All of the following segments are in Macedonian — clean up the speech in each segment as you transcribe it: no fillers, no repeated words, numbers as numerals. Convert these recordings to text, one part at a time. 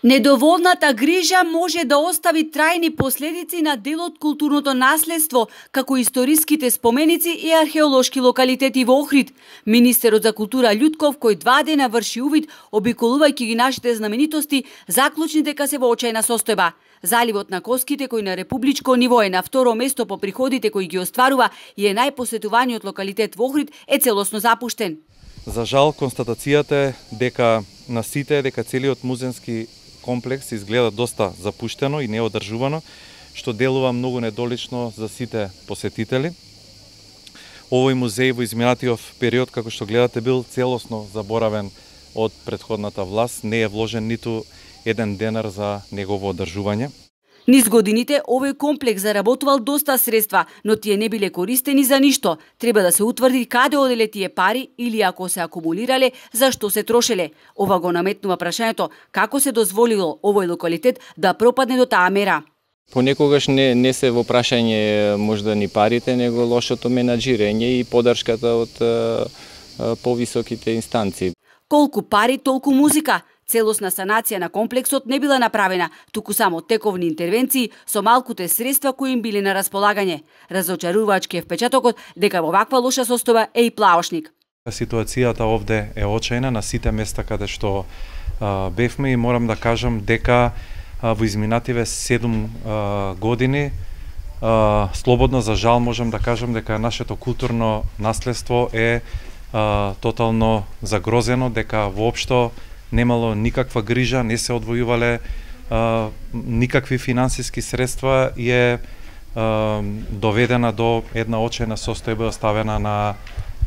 Недоволната грижа може да остави трајни последици на дел од културното наследство, како историските споменици и археолошки локалитети во Охрид. Министерот за култура Љутков, кој 2 дена врши увид, обиколувајќи ги нашите знаменитости, заклучни дека се во очајна состојба. Заливот на Коските, кој на републичко ниво е на второ место по приходите кои ги остварува и е најпосетуваниот локалитет во Охрид, е целосно запуштен. За жал, констатацијата е дека на сите дека целиот музејски комплекс изгледа доста запуштено и неодржувано, што делува многу недолично за сите посетители. Овој музеј во изминатиот период, како што гледате, бил целосно заборавен од претходната власт, не е вложен ниту еден денар за негово одржување. Низ годините овој комплекс заработувал доста средства, но тие не биле користени за ништо. Треба да се утврди каде оделе тие пари или ако се акумулирале, зашто се трошеле. Ова го наметнува прашањето како се дозволило овој локалитет да пропадне до таа мера. Понекогаш не се во прашање можда ни парите, него лошото менаџирање и поддршката од повисоките инстанции. Колку пари, толку музика. Целосна санација на комплексот не била направена, туку само тековни интервенции со малкуте средства кои им биле на располагање. Разочарувачки е впечатокот дека во ваква лоша состојба е и Плаошник. Ситуацијата овде е очајна на сите места каде што бевме и морам да кажам дека во изминативе 7 години слободно за жал можам да кажам дека нашето културно наследство е тотално загрозено, дека воопшто немало никаква грижа, не се одвојувале никакви финансиски средства и е доведена до една очајна состојба оставена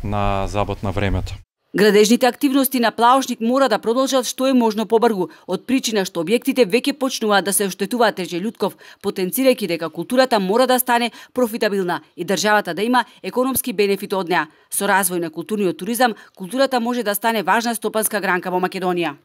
на забот на времето. Градежните активности на Плаошник мора да продолжат што е можно побрзо, од причина што објектите веќе почнуваат да се оштетуваат, рече Љутков, потенцирајќи дека културата мора да стане профитабилна и државата да има економски бенефит од неа. Со развој на културниот туризам, културата може да стане важна стопанска гранка во Македонија.